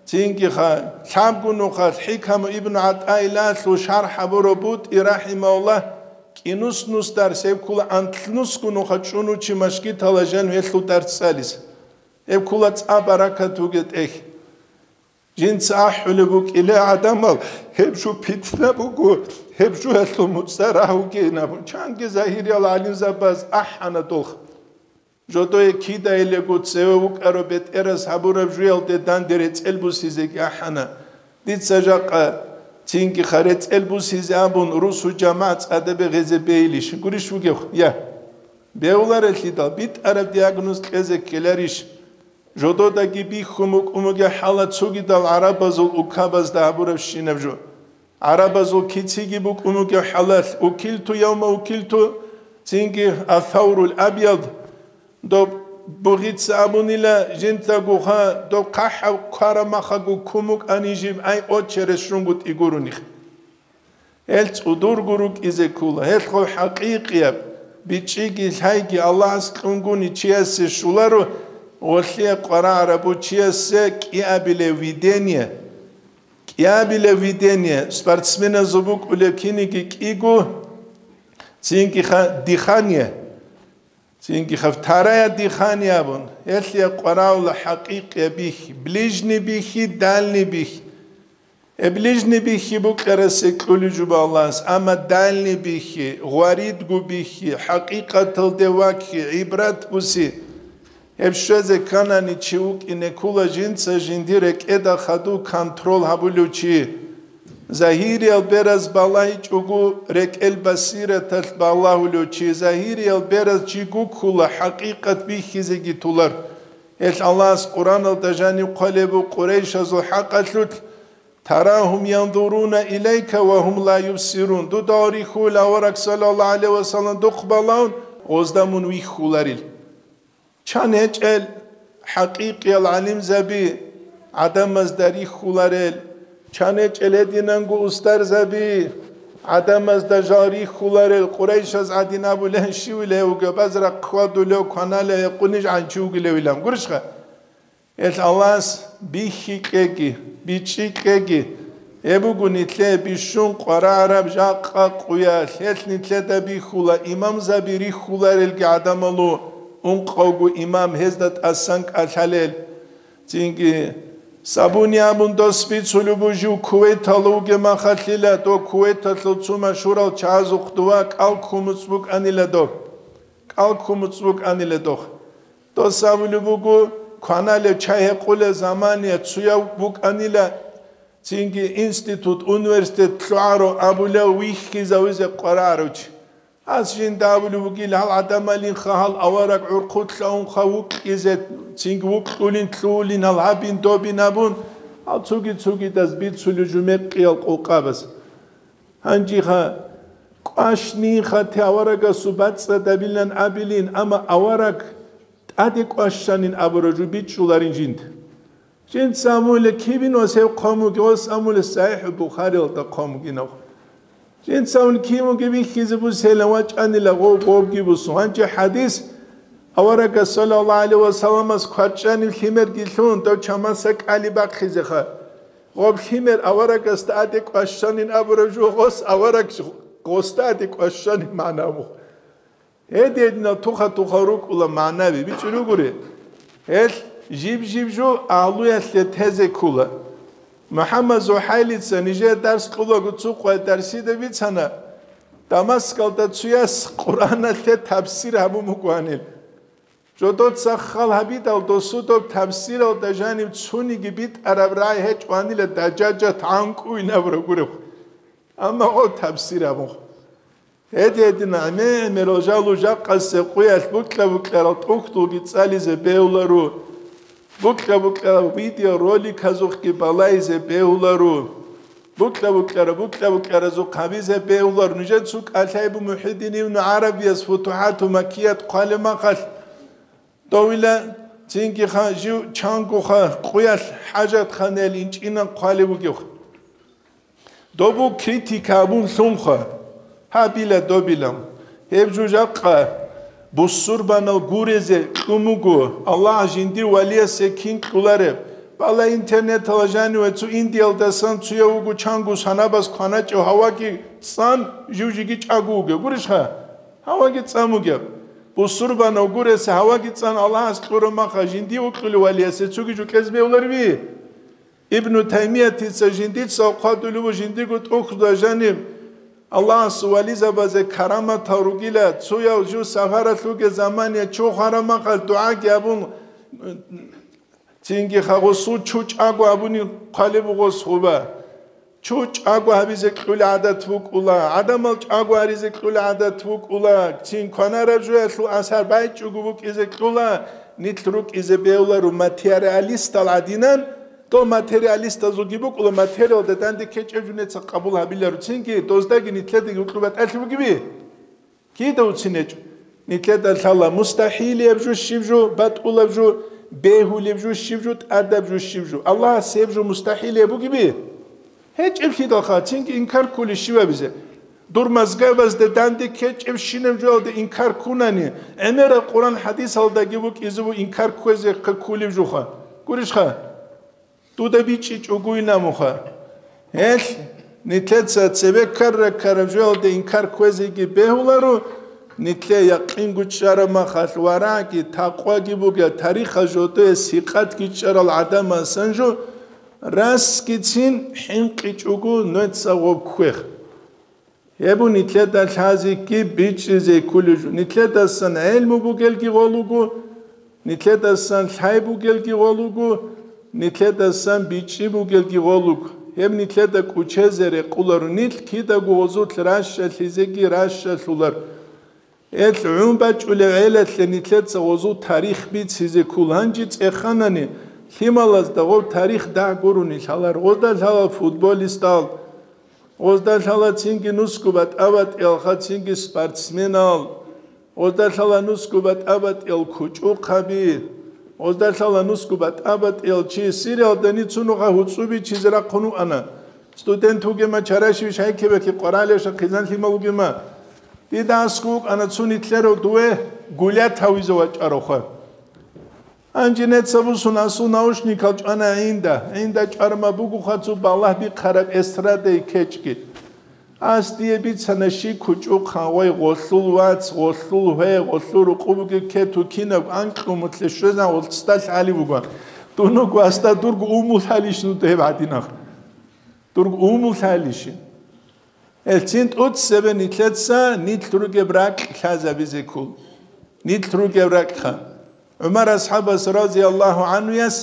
цинги ха-, лъабго нухалъ ХӀикаму ибн ГӀатӀаилалъул шархӀ гьабураб бутӀи, рахӀимагьуллагь, кӀинус-нус дарс, гьеб ккула анлънусго нуха чӀунучи машгитала жан гьелъул дарс цӀализе. Гьеб ккула цӀа баракат бугеб тӀехь. Жинца ахӀулеб букӀила гӀадамал, гьеб жо питна буго, гьеб жо гьелъул муцӀа рагьугейин абун, чанги загьириял гӀалимзабаз ахӀана долх. Жодое кидаилего цеве вукӀарав бетӀерас гьабураб жуялде данде рецӀел бусизеги ахӀана. Дица жакъа цинги ха рецӀел бусизе абун русу жамагӀат цӀадабе гъезе бейилищ? Гурищ вугев? Я. Бевларелъидал битӀараб диагноз кьезе ккеларищ? Жододаги бихьун букӀунуге хӀала цугидал гӀарабазул укабазда гьабурабщинаб жо. ГӀарабазул кициги букӀун бугеб хӀалалъ, укилту явма укилту, цинги асаврул абиял, доб бугъица абунила жинцагуха, доб хъахӀаб кварамахаго ккун букӀани жиб, ай, очерес щунгутӀи гуруних. Гьел цӀудурго рукӀизе ккула, гьелъго хӀакъикъияб, бичӀчӀиги лъайги Аллагьас кьунгуни чиясе щуларо, гъолъие къварагӀарабу чиясе кӀиабилев видение. КӀиабилев видение, спортсменазул букӀулеб киниги кӀиго, цинги ха-, дыхание, цинги ха-, вторая дыхание абун, гьелъие къварагӀула хӀакъикъияб бихьи, ближний бихьи, дальний бихьи. Э, ближний бихьи букӀарасе кьулеб жо Аллагьас, амма дальний бихьи, гъваридго бихьи, хӀакъикъаталде ваккхи, гӀибрат буси. Гьеб щвезе кканани чи вукӀине ккула жинца жиндир рекӀеда хадув контрол гьабулев чи. Загьириял бераз балагьичӀого рекӀел басираталъ балагьулев чи, загьириял бераз чи гуккула, хӀакъикъат бихьизеги тулар. Гьелъ Аллагьас Къуръаналда жанив хъвалеб буго Къурайшазул хӀакъалъулъ: «Тарагьум янзуруна илайка ва гьум ла юбсирун». Дуда гьорихьул авараг, саллаллагьу гӀалайгьи ва саллам, духъ балагьун, гъозда мун вихьуларил. Чан гьечӀел хӀакъикъиял гӀалимзаби, гӀадамазда рихьуларел, чан гьечӀел гьединанго устарзаби, гӀадамазда жал рихьуларел, Къурайшаз гӀадин абулеб щивила гьев вугев, базрахъ хьвадулев, кваналев, гьекъунищ гӀанчи вугилевилан. Гурищха? Гьелъ Аллагьас бихьи кьеги, бичӀчӀи кьеги, гьеб буго нилъее бищун къварагӀараб жакъа къуялъ, гьелъ нилъеда бихьула имамзаби рихьуларелги гӀадамалу, ункъавго имам гьезда тӀасан кӀалъалел. Цинги Сабуни абун дос бицулеб буго жив Кувейталда вугеб махалъила, дов Кувейталъул цо машгьурал чагӀазухъ дова кӀал ккумуцӀ букӀанила дов. КӀал ккумуцӀ букӀанила дох. Дос абулеб буго, кваналев чай гьекъулел замания цуяв букӀанила, цинги институт, университет лъугӀаро абулев вихьизавизе къварагӀарав чи. Гьас жинда абулеб бугил, гьал гӀадамалинха, гьал авараг гӀурхъулъа унха вукьизе, цинги вукьулин, лъугьулин, гьал гьабин, добин абун, гьал цуги-цугидаз бицулеб жо мекъиял къокъабаз. Гьанжеха, кӀвашнинха те аварагасул бацӀцӀадабилан абилин, амма авараг тӀаде кӀвашанин абураб жо бичӀчӀуларин жинда. Жинца амулеб кибин ва сев хъван бугеб, гъос амулеб СахӀихӀул Бухариялда хъван бугинав. Жинца амулеб кибин бугеб бихьизе бусейилан вачӀанила гъов гъобги бусун. Гьанже хӀадис, аварагас, саллаллагьу гӀалайгьи ва салламас, квачӀанив лъимерги лъун, дов чамаса кӀали бахъизеха. Гъоб лъимер аварагасда тӀаде кӀвашанин абураб жо гъос авараг гъосда тӀаде кӀвашанин магӀна буго. Гьединал туха-туха рукӀула магӀнаби, бичӀчӀулеб бугури. Гьелъ жиб-жиб жо агьлуялъе тезе ккула. МухӀаммад ЗухӀайлица нижее дарс кьулаго цо къвай дарсида бицана, Дамаскалда цояс Къуръаналъе тафсир гьабун буго гьанил. Жодоца хал гьабидал досудаб табсиралда жаниб цуниги битӀараб рагӀи гьечӀванила дажажат гӀанкӀуй набураб гуреб. Амма гъо табсир абун. Гьедин-гьедин гӀемер-гӀемерал жал жакъасе къуялъ букьа-букьарал тӀухьдулги цӀализе бегьуларо, букьа-букьарал видеороликазухъги балайзе бегьуларо, букьа-букьара, букьа-букьаразухъ гьабизе бегьуларо. Нужер цо кӀалъайбу МухӀиддин ибну ГӀарабияс Футухату Маккият хъвалеб махалъ, довила цинги ха жив чангоха къуялъ хӀажатханел инчӀинан хъвалеб бугев. Добу критика абун лъунха, гьабила добилан. Гьеб жужахъа бусурбанал гурезе кьун буго, Аллагь жинди валиясе кин кьулареб. Бала интернетала жаниве цо Индиялдасан цуяв вуго чангу санабас кваначӀев гьаваги цӀан жужиги чӀаго вугев. Гурищха? Гьаваги цӀан вугев. Бусурбанав гуресе гьаваги цӀан Аллагьас кьураб маха жинди вукьулев валиясе цуги жукьез бевларви? Ибну Таймиятица жиндица хъвадулев жиндиго тӀухьда жаниб, Аллагьас вализабазе караматал ругила, цояв жив сафаралъуге замания чу хварамахъал дугӀаги абун, цинги хагъусу чу чӀаго абуни хъвалеб бугъос гъуба. Чу чӀаго гьабизе кьули гӀадат букӀула, гӀадамал чӀаго гьаризе кьули гӀадат букӀула, цин кванараб жоялъул асар байчӀого букӀизе кьула, нилъ рукӀизе бевлару материалистал гӀадинан, Дол материалистазулги букӀула, материалда данде ккечӀеб жунеца къабул гьабиларо, цинги доздаги нилъедаги гьуркьу батӀалъи бугеби? Кида уцин гьечӀо? Нилъеда лъала мустахӀилияб жо щиб жо, батӀулаб жо, бегьулеб жо щиб жо, тӀадаб жо щиб жо. Аллагьас гьеб жо мустахӀилияб бугеби? ГьечӀеблъидалха, цинги инкар ккули щивабизе? Дур мазгабазда данде ккечӀебщинаб жоялда инкар ккунани, гӀемераб Къуран хӀадисалдаги букӀизе бу инкар кквезе ккулеб жуха. Гурищха? Дуда бичӀчӀичӀогойин абунха. Гьелъ, нилъеца цебе ккара-ккараб жоялда инкар кквезеги бегьуларо, нилъее якъинго чӀараб махалъ варагӀги, такъваги бугеб, тарихалъ жодое сикъатги чӀарал гӀадамасан жо, расгицин хӀинкъичӀого нуца гъоб кквех. Гьеб нилъеда лъазеги бичӀчӀизе кколеб жо. Нилъедасан гӀелму бугелги гъол вуго, нилъедасан лъай бугелги гъол вуго, нилъедасан бичӀчӀи бугелги гъол вуго. Гьеб нилъеда кӀучезе рекъоларо, нилъ кидаго гъозулъ ращалъизеги ращалъуларо. Гьелъ гӀун бачӀулев гӀелалъе нилъеца гъозул тарих бицизе ккол. Гьанже цӀеханани, лъималазда гъоб тарих дагь гурони лъалар, гъозда лъала футболистал, гъозда лъала цинги нусго батӀа-батӀиялха цинги спортсменал, гъозда лъала нусго батӀа-батӀиял кучӀухъаби, гъозда лъала нусго батӀа-батӀиял чи. Сириялда ницун нуха гьуцӀуби чизе рахъун вуана. Студент вугема чарашивищ гьайкебехъи къваралеша хъизан лъимал вугема. Дида аскӀов вукӀана цун итлъарав дуе гулят гьавизе вачӀаравха. Гьанже неца бусун асул наушникал чӀвана гӀинда. ГӀинда чӀварма бугоха цо балагь бихъараб эстрадай кечӀги. Ас дие бицана щи кучӀухъан вай гъолъул вац, гъолъул гье, гъолъул рукъу бугеб кету кинаб анкьумутлъе щвезан гъолцӀдалъ гьалив вуган. Дун вуго асда дурго умул гьалищ нуда гьеб гӀадинах. Дурго умул гьалищи. Гьелцин тӀуц цебе нилъеца нилъ ругеб ракь лъазабизе ккол. Нилъ ругеб ракьха. ГӀумар асхӀабас разияллагьу гӀанхуяс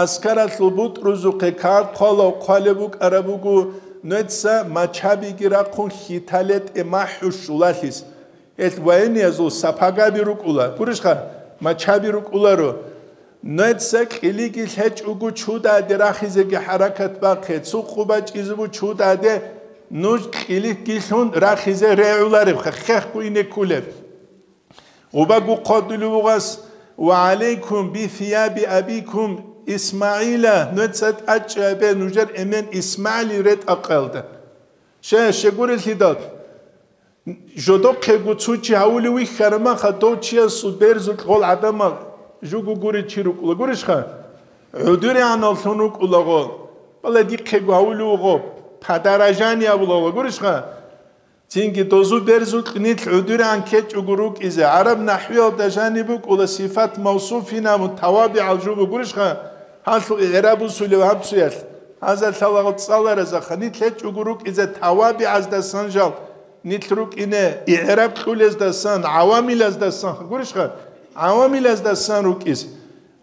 аскаралъул бутӀрузухъе кагъ хъвалав хъвалеб букӀараб буго, нуца мачабиги рахъун хьиталетӀе махӀу щулалъис. Гьелъ военниязул сапагаби рукӀула, гурищха, мачаби рукӀуларо. Нуца кьилиги лъечӀого чудаде рахизеги хӀаракат бахъе, цо къу бачӀизе бу чудаде нуж кьилигилъун рахизе регӀулареб, хехго ине ккулеб. Гъубаго хъодулев вугъас: «Ва гӀалайкум би сияби абикум ИсмагӀила», нуца тӀачӀи абе нужер эмен ИсмагӀилил ретӀа-къелда. Ще, щегурелъидал, жодохъего цо чи гьавулев вихьараб маха, дов чиясул берзукь гъол гӀадамал жуго гурел чи рукӀула, гурищха? ГӀудуригӀаналлъун рукӀула гъол. Бала дихъего гьавулев вуго, подорожание абула гъол, гурищха? Цинги дозу берзукь нилъ гӀудуран кечӀого рукӀизе, гӀараб нахӀвиялда жаниб букӀула сифат мавсуфина мутавабигӀал жубу гурищха, гьалъул игӀраб бусулев гьаб цоялъ, гьаза лъалагъал цӀаларазаха, нилъ гьечӀого рукӀизе тавабигӀаздасан жал, нилъ рукӀине игӀраб кьулездасан, гӀавамилаздасан гурищха, гӀавамилаздасан рукӀиз.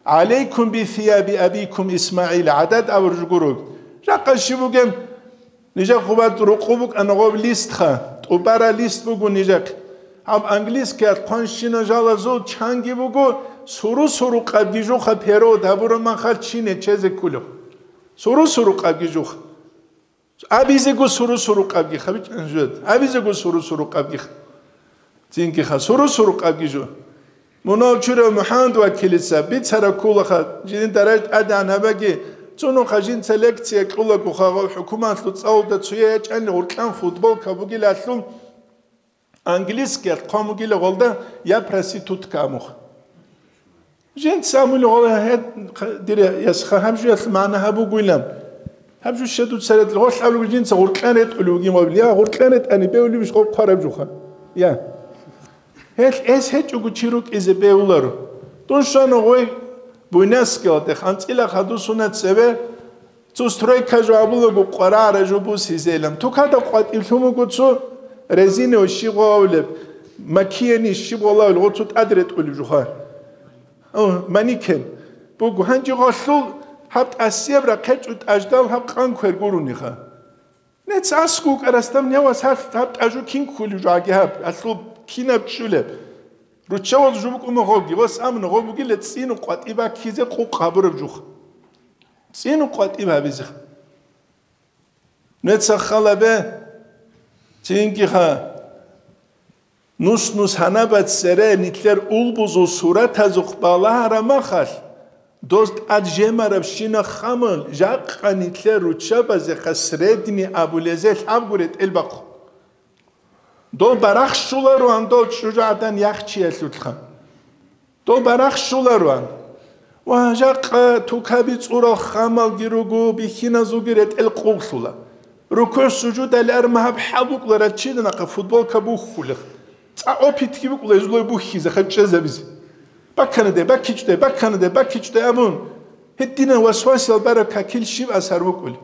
«ГӀалайкум би сияби абикум ИсмагӀил», гӀадат абур жугуру. Жакъа щиб бугеб? Нижер хъубат рукъу букӀана гъоб листха, тӀубара лист буго нижехъ. Гьаб английскиялъ хъванщина жалазул чанги буго, суру-суру къабги жуха перевод гьабураб махал чи нечезе кколев. Суру-суру къабги жуха. Абизего суру-суру къабги хабичӀан жуд. Абизего суру-суру къабги ха. Цинги ха суру-суру къабги жу. Мунав чурав МухӀаммад вакилица бицара кколаха, жинин дараж тӀадегӀан гьабаги, цунуха жинца лекция кьулаго хагъав хӀукуматлъу цӀалда цуе ячӀани гъуркьан футболка бугилалъул английскиялъ хъван бугила гъолда я проститутка амуха. Жинца амули гъола гьед, дир ясха гьаб жуялъ магӀна гьабугуйилан. Гьаб жу щадуца ретӀ-, гъолъ абулеб жинца гъуркьан ретӀулев вугин гъабил. Я, гъуркьан ретӀани бевлебищ гъоб хъвараб жуха? Я. Гьелъ эс гьечӀого чи рукӀизе бевларо. Дун щвана гъой Буйнакскиялдехъ анцӀила хадусуна цеве, цо стройка жо абулаго къварагӀара жо бусизейилан. Тукада къватӀив лъун вуго цо резиновый щиб гъавулеб, макияни щиб гъолавулеб, гъо цо тӀад ретӀулеб жуха. О, манекен. Буго, гьанже гъолъул гьаб тӀасияб рахъечӀо тӀаждал гьаб къан квер гурониха. Нец аскӀов вукӀарасдам нявас гьаб, гьаб тӀажу кин ккулев жаги гьаб, гьалъул кинаб чӀулеб? Руччаваз жо букӀума гъобги, вас амна гъоб бугила цӀину къватӀи баккизе къукъ гьабураб жух. ЦӀину къватӀи гьабизе. Нуца халабе, цинги ха. Нус-нус гьанабат цере нилъер улбузул суратазухъ балагьараб махалъ, доз тӀад жемарабщина хамун, жакъа нилъер руччабазеха средни абулезе лъабго ретӀел бахъу. Дол барахщуларуан дол чӀужугӀадан яхчиялъулъха. Дол барахщуларуан. Ва жакъа тукаби цӀурал хамалги руго, бихьиназулги ретӀел къуллъула. Рукугь-сужудали арма гьаб хӀал букӀла раччида нахъа футболка бухьулех. ЦӀа опитги букӀла излой бухьизе, хъечӀезабизе. Бакканаде, баккичӀде, бакканаде, баккичӀде абун, гьединан васвасиял бараб какил щиб асар букӀулеб?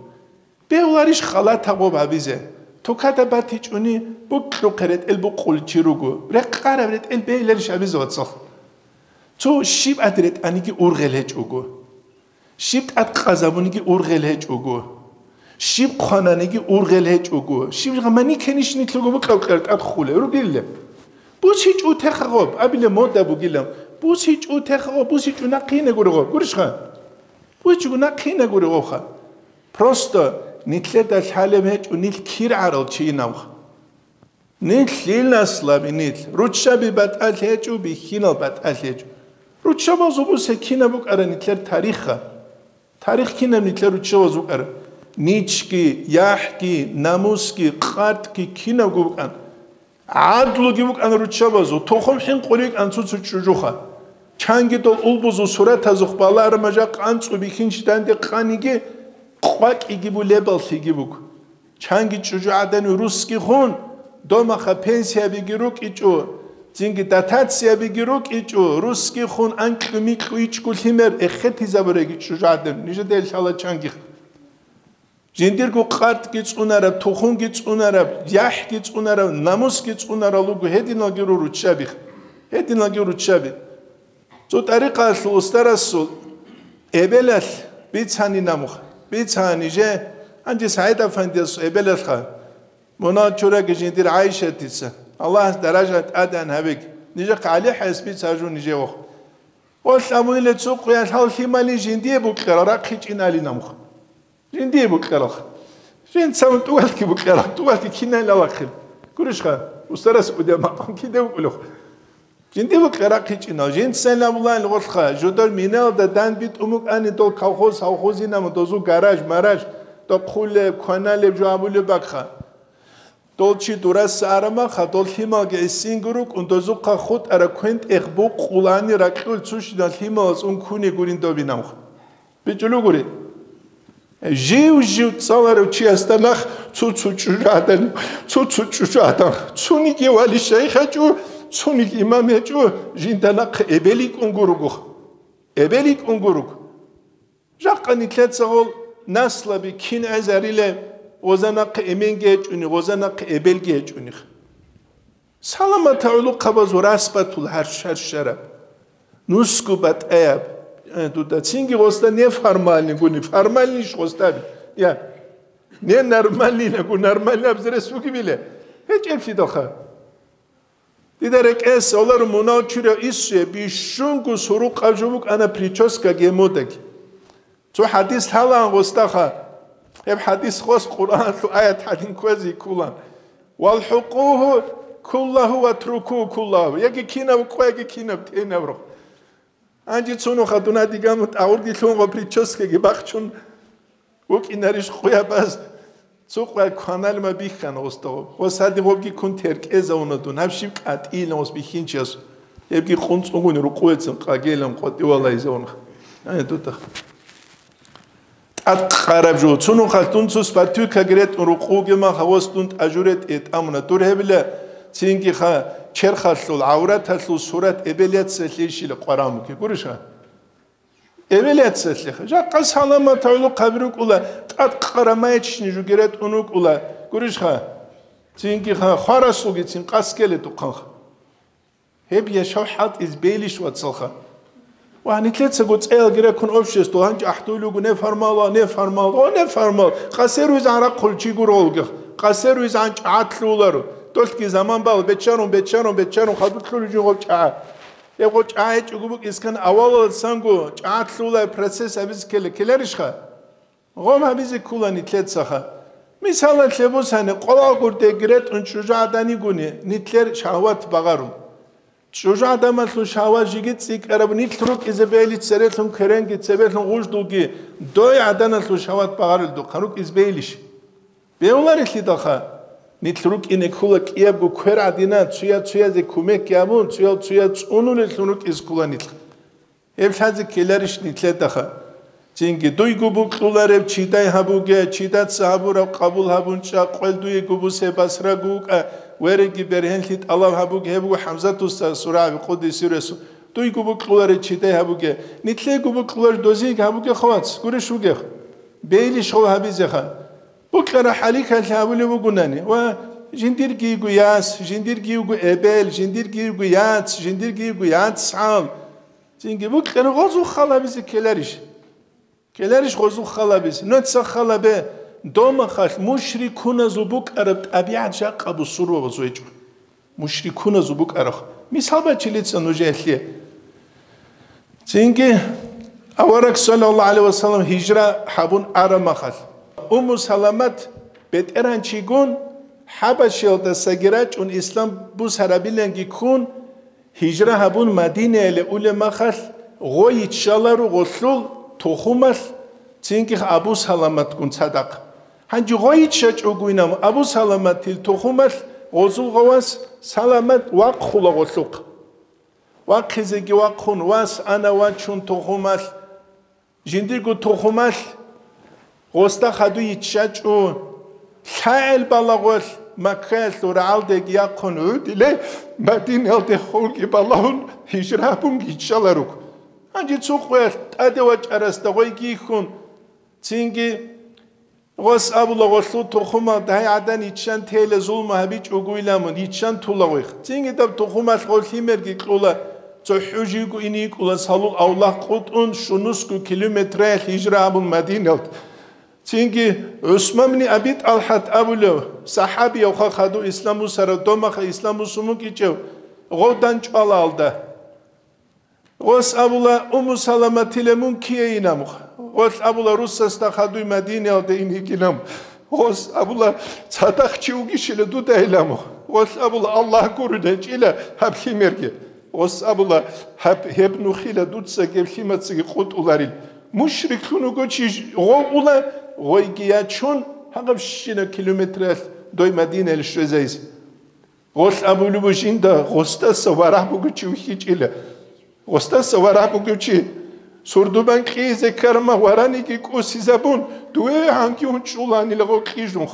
Бегьуларищ халат гьаб гъоб гьабизе? Тукада батичӀуни букьухъе ретӀел букъулев чи руго. Рекъараб ретӀел бегьиларищ гьабизе, вацал? Цо щиб тӀад ретӀаниги ургъел гьечӀого. Щиб тӀад къазабуниги ургъел гьечӀого. Щиб хъвананиги ургъел гьечӀого. Щиб гъамани кенищ нилъего букьав кьер тӀад хулев ругилан. БусичӀо теха гъоб, абила мода бугилан. БусичӀо теха гъоб, бусичӀо нахъинегури гъоб. Гурищха? БусичӀого нахъинегури гъобха. Просто нилъеда лъалеб гьечӀо нилъ кир гӀарал чийинавха. Нилъ лъил наслаби нилъ, руччаби батӀалъ гьечӀо, бихьинал батӀалъ гьечӀо. Руччабазул бусе кинаб букӀара нилъер тарихха? Тарих кинаб нилъер руччабаз букӀара? Ничги, яхӀги, намусги, къартӀги кинабго букӀан. ГӀадлуги букӀан руччабазул, тухум хӀинкъуликӀан цо-цо чӀужуха. Чанги дол улбузул суратазухъ балагьараб мажа къанцӀу бихьинчи данде къаниги, къвакӀиги бу лебаллъиги буго. Чанги чӀужугӀадани русскихун, домаха пенсиябиги рукӀичӀо, цинги дотациябиги рукӀичӀо, русскихун анкьу-микьу ичӀго лъимер эхетизабуреги чӀужугӀадани, нижеда ил лъала чанги. Жиндирго къартӀги цӀунараб, тухумги цӀунараб, яхӀги цӀунараб, намусги цӀунарал руго гьединалги ру руччаби. Гьединалги руччаби. Цо тӀарикъалъул устарасул эбелалъ бицанина мух. Бицани же, гьанже СагӀид-афандиясул эбелалъха. Мунагь чураги жиндир ГӀайшатица. Аллагьас даража тӀадегӀан гьабеги. Нижехъ ГӀали-хӀайс бицажу нижевухъ. Гъолъ абунила цо къуялъ гьал лъимали жиндие букьарал рахъичӀин алина мух. Жиндие букьаралха. Жинца тӀугьалги букьарал, тӀугьалги кинайилал ахил. Гурищха, устарас удеб макъам киде букӀулев? Жиндие букьарахъичӀинал, жинцайилан абулаан гъолъха, жодор миналда данби тӀумукӀани дол колхоз-совхозинама дозул гараж-мараж, дол хъулеб, кваналеб жо абулеб бакӀха. Дол чи дураса арамаха, дол лъималги гӀисинги рукӀун, дозухъа хутӀара квен-тӀех букъулани ракьул цущинал лъималаз ун куни гурин добинамха. БичӀулугури. Жив-жив цӀаларав чиясда нах цо-цо чӀужугӀадан, цо-цо чӀужугӀадан, цониги вали шайх гьечӀо, цониги имам гьечӀо, жинда нахъ эбел йикӀун гуруго. Эбел йикӀун гуруго. Жакъа нилъеца гъол наслаби кин гӀезариле, гъоза нахъ эменги гьечӀуни, гъоза нахъ эбелги гьечӀуни. Саламата гӀулухъабазул расбатул гьарш-гьаршараб. Нусго батӀаяб, э, дуда цинги гъосда не формальный гуни, формальныйищ гъосда? Я, не нормальный гу, нормальный абзарес вугибиле? ГьечӀеблъидалха. Дида рекӀес олар мунал чурав иссуе бищунго сурукъаб жо букӀана прическаги модаги. Цо хӀадис лъалаан гъосдаха, гьеб хӀадис гъос Къуръаналъул аят гьадин кквезе кколан: «ВалхӀукъугьу куллагьу ва трукугьу куллагьу», яги кинаб къо, яги кинаб тейнаб рухъ. Гьанже цунуха дунадигамун тӀагъурги лъун гъо прическаги бахчун вукӀинарищ къоябаз? Цо къоя кваналма бихьана гъосда гъоб. Гъос гьадин гъобги ккун теркӀезавуна дун, гьаб щиб кӀатӀийилан гъос бихьинчияс, гьебги къунцӀугун рукъуецин къагилан къватӀивалайзавуна. Гьанже дуда тӀадкъараб жо. Цунухъалъ дун цо спартуйкаги ретӀун рукъугемаха, гъос дун тӀажу ретӀе тӀамуна. Дур гьебила цинги ха черхалъул, гӀавраталъул сурат эбел-яцалъейищила къварагӀун бугеб. Гурищха? Эбел-яцалъеха. Жакъа саламат гӀолохъаби рукӀула, тӀадкъара маячни жуги ретӀун рукӀула. Гурищха? Цинги ха хварасулгицин къасгеледухъанха. Гьеб яшав хӀалтӀиз бейлищ, вацалха? Ва нилъецаго цӀеялги рекун общество, гьанчӀ ахӀдуй руго, не формала, не формал, о, не формал. Къасер визгӀан рахъул чи гуро олгех. Къасер визгӀан чӀагӀат лъуларо. Долъги заман бал, беччарун, беччарун, беччарун, хадур лъули жугъав чӀагӀа. Гьеб гъо чӀагӀа гьечӀого букӀискан авалалдасанго чӀагӀат лъулай процесс абизе ккеле, ккеларищха? Гъом гьабизе ккула нилъецаха. Мисалалъе бусани, къвалал гурдеги ретӀун чӀужугӀадан йигуни, нилъер шагьват багъарун. ЧӀужугӀадамалъул шагьват жиги цӀикӀкӀараб, нилъ рукӀизе бегьилица релъун керенги цебелъун гъуждулги, дой гӀаданалъул шагьват багъарулдухъан рукӀиз бегьилищ? Бегьуларелъидалха, нилъ рукӀине ккула кӀиябго квер гӀадина, цоял-цоязе кумекги гьабун, цоял-цояз цӀунулеллъун рукӀиз ккула нилъ. Гьеб лъазе ккеларищ нилъедаха? Цинги дуйго букьулареб чидай гьабуге, чидаца гьабураб къабул гьабун чӀа, къвел дуего бусе, Басраго вукӀа, вереги бергьенлъи тӀалаб гьабуге, гьеб буго ХӀамзатуса сурагӀаби къуддиса сирругьу. Дуйго букьулареб чидай гьабуге, нилъего букьулареб дозиеги гьабуге, хавац, гурищ вугех? Бейилищ гъов гьабизеха? Букьараб хӀалихьалъи гьабулеб бугунани, ва жиндирги йиго яс, жиндирги йиго эбел, жиндирги йиго яц, жиндирги йиго яцгӀал. Цинги букьараб гъозухъ халабизе ккеларищ? Ккеларищ гъозухъ халабизе? Нуца халабе, домахалъ мушрикуназул букӀараб тӀабигӀат жакъа бусурбабазул гьечӀо. Мушрикуназул букӀараб. Мисал бачилица нужеялъе. Цинги авараг, саллаллагьу гӀалайгьи вассалам, гьижра гьабун араб махалъ, Умму Саламат бетӀеранчигун ХӀабашиялдасаги рачӀун ислам бусарабиланги ккун, гьижра гьабун, Мадинаяле улеб махалъ, гъой йиччаларо гъолъул тухумалъ, цинги Абу Саламатгун цадахъ. Гьанже гъой йиччачӀогойилан Абу Саламатил тухумалъ гъозул гъовас Саламат вахъула гъолъухъ. Вахъизеги вахъун, вас ана вачун тухумалъ, жиндирго тухумалъ гъосда хадуй йиччачӀо, лъагӀел балагъулъ Маккаялъул рагӀалдеги яхъун гӀодилей, Мадинаялде хунги балагьун гьижра гьабунги йиччаларуго. Гьанже цо къоялъ тӀаде вачӀарасда гъойги йихьун, цинги гъос абула, гъолъул тухумал дагьай гӀадан йиччан тейила зулму гьабичӀого иламун, йиччан тула гъойх. Цинги даб тухумалъ гъов лъимерги кьула, цо хӀужиго ине йикӀула салул авлахъ къутӀун, щунусго километраялъ гьижра гьабун Мадиналда. Цинги ГӀусманни Аби ТӀалхӀат абулев сахӀабиявха хадув ислам бусарав домаха ислам бусун вукӀичӀев гъов данчӀвала алда. Гъос абула, Умму Саламатиле мун кие инамух? Гъолъ абула, русасда хадуй Мадинаялде ин йигинамух. Гъос абула, цадахъ чи вугищила дуда иламух. Гъолъ абула, Аллагь гури гьечӀила гьаб лъимерги. Гъос абула, гьаб гьеб нухила дуца гьеб лъимацаги къутӀуларил. Мушриклъун вуго чи ж-, гъов ула, гъойги ячун, гьагъабщина километралъ дой Мадинаялъ щвезайизе. Гъолъ абулеб буго жинда, гъосдаса варагь бугев чи вихьичӀила. Гъосдаса варагь бугев чи, сурдубан кьизе ккарма вараниги кӀусизабун, дуе гьанги унчӀуланила гъо кьижунх.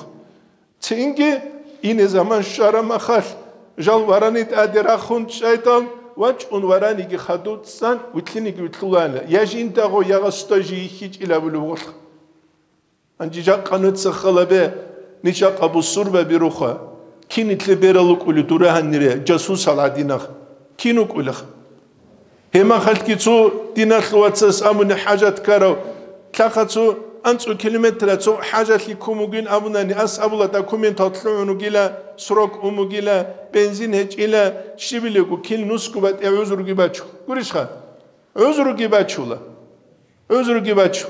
Цинги ине заман щвараб махалъ, жал варани тӀаде рахун чӀайдал, вачӀун вараниги хадув цӀан вилълъиниги вилълъулаанила, я жинда гъо, я гъосда жий вихьичӀила абулеб гъолъ. Гьанже жакъа нуца халабе, ниж жакъа бусурбаби руха. Кин нилъе берал рукӀули дура гьанире, жасусал гӀадинах? Кин вукӀулах? Гьеб мехалъги цо диналъул вацас абуни хӀажат ккарав, лъахъа цо анцӀу километра цо хӀажалъи ккун бугин абунани, ас абула документал лъугӀун вугила, срок ун бугила, бензин гьечӀила, щибилего кил нусго батӀи гӀузруги бачу. Гурищха? ГӀузруги бачула. ГӀузруги бачу.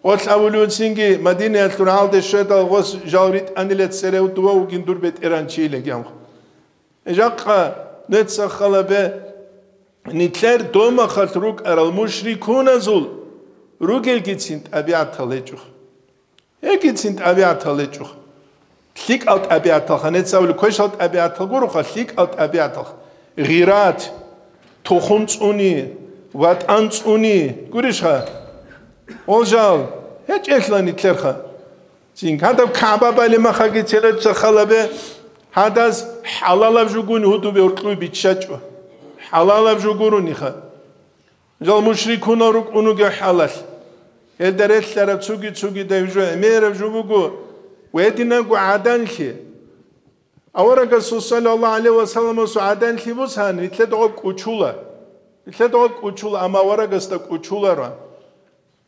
Гъолъ абулев цинги Мадинаялъур гьалде щведал гъос жал ритӀанила цере дова вугин дур бетӀеран чиилегамха. Жакъа нуца халабе нилъер домахалъ рукӀарал мушрикуназул ругелгицин тӀабигӀатал гьечӀо. Гьегицин тӀабигӀатал гьечӀо. ЛъикӀал тӀабигӀатал, гьанецавли квешал тӀабигӀатал гуроха, лъикӀал тӀабигӀатал. Гъират, тухум цӀуни, ватӀан цӀуни, гурищха? Гъожал, гьечӀелъа нилъерха. Цин гьадаб КагӀба балимахаги церецо халабе, гьадаз хӀалалаб жугуни гьудубе уркьуй биччачӀо. ХӀалалаб жугуруниха. Жал мушрикунал рукӀунуги хӀалалъ. Гьелда релълъараб цуги-цуги давжо гӀемераб жо буго, гьединабго гӀаданлъи. Аварагасул саллаллагьу гӀалайгьи ва салламасул гӀаданлъи бусани, нилъеда гъоб кӀучула. Нилъеда гъоб кӀучула, амма аварагасда кӀучуларо.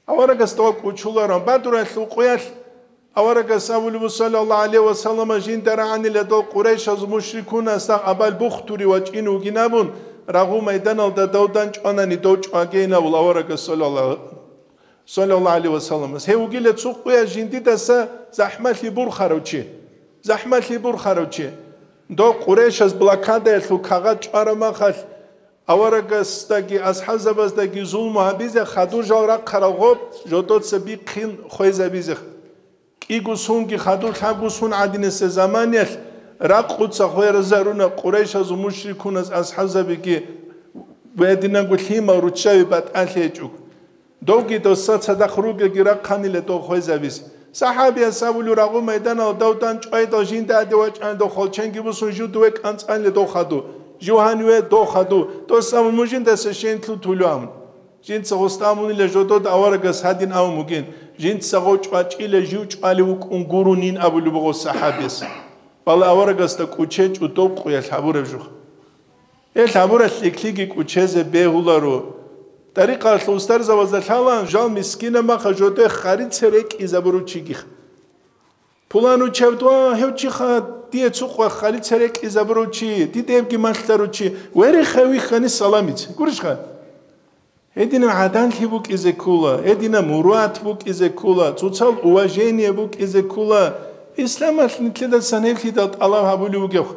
Аварагасда гъоб кӀучуларо. Бадруялъул къуялъ аварагас абулеб, саллаллагьу гӀалайгьи ва саллама, жинда рагӀанила дол Къурайшаз мушрикунасда абал бухтури вачӀин вугин абун, рагъу майданалда давдан чӀванани дов чӀвагейин абул аварагас, саллаллагьу саллаллагьу гӀалайгьи ва салламас. Гьев вугила цо къуя жиндидаса захӀмалъи бурхарав чи. ЗахӀмалъи бурхарав чи. Дов Къурайшаз блокадаялъул кагъат чӀвараб махалъ, аварагасдаги асхӀабзабаздаги зулму гьабизе хадур жал рахъарал гъоб жодоца бихъин хвезабизе. КӀиго сунги хадур лъабго сун гӀадинасеб заманиялъ ракъуца хвезаруна Къурайшазул мушрикуназ асхӀабзабиги гьединабго лъимал руччаби батӀалъи гьечӀого. Довги доса цадахъ ругелги рахъанила дов хвезабизе. СахӀабияс абулев, рагъу майданал давдан чӀвайдал жинда гьаде вачӀана дов хвалченги бусун жив дуве кӀанцӀанила дов хаду. Жив гьаниве дов хаду. Дос абун мужиндаса щенлъутулев абун. Жинца гъоста абунила жодода аварагас гьадин абун бугин. Жинца гъо чӀвачӀила жив чӀвалев вукӀун гурунин абулеб буго сахӀабияс. Бала аварагасда кӀучечӀо дов къуялъ гьабураб жух. Гьел гьабурал лъикӀлъиги кӀучезе бегьуларо. ТӀарикъалъул устарзабазда лъалаан жал мискинаб маха жодое харица рекӀизабурав чигиха. Пуланучав дуа, гьев чиха дие цукъва харица рекӀизабурав чи, дидебги малъарав чи, верихъа вихьани саламица. Гурищха? Гьединаб гӀаданлъи букӀизе ккола, гьединаб муруат букӀизе ккола, цоцал уважение букӀизе ккола. Исламалъ нилъедасан гьеб лъидал тӀалаб гьабулев вугев?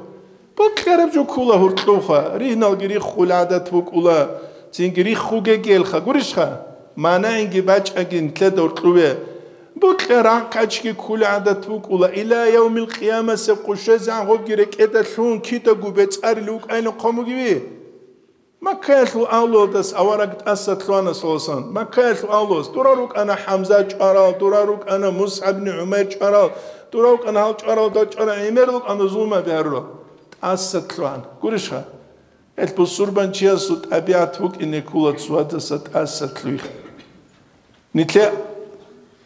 Бокьараб жо ккола гьоркьовха, риналги риххул гӀадат букӀула, цинги риххуге гелха, гурищха? МанагӀинги бачӀаги нилъеда гьоркьове. Бокьа рахъачги ккула гӀадат букӀула, ила явмил къиямасеб къушезегӀан гъобги рекӀеда лъугьун кидаго бецӀарилев вукӀайна хъомугиви? Маккаялъул авлуялдас авараг тӀаса лъугьана, саллаллагьу гӀалайгьи ва саллам. Маккаялъул авлуялдас дура рукӀана ХӀамза чӀварал, дура рукӀана МусгӀаб ибн ГӀумайр чӀварал, дура рукӀана гьал чӀварал, дал чӀварал гӀемер рукӀана зулма бегьарурал. ТӀаса лъугьана. Гурищха? Гьел бусурбанчиясул тӀабигӀат букӀине ккола цоцаздаса тӀаса лъугьиха. Нилъе-,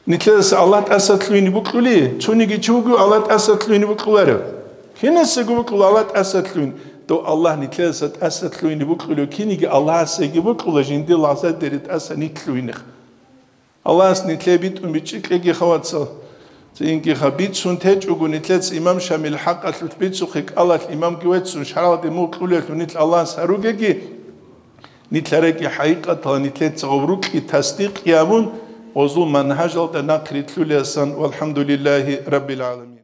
нилъедаса Аллагь тӀаса лъугьине букьули, цониги чи вугев Аллагь тӀаса лъугьине букьуларев? Кинасего букьула Аллагь тӀаса лъугьине. Дов Аллагь нилъедаса тӀаса лъугьине букьулев киниги Аллагьасеги букьула, жиндир лагъзадери тӀаса нилъ лъугьинеха. Аллагьас нилъее битӀун бичӀчӀикьегиха, вацал. Цинги ха бицун течӀого нилъеца имам Шамил хӀакъалъулъ бицухъе кӀалалъ имамги веццун шаргӀалде мугъ кьулелъул нилъ Аллагьас гьаругеги, нилъ гьареги хӀакъикъаталда нилъеца гъов рукьи тасдикъ гьабун, гъозул манхӀажалда нахърилълъулеасан, валхӀамдулиллагьи раббил гӀаламин.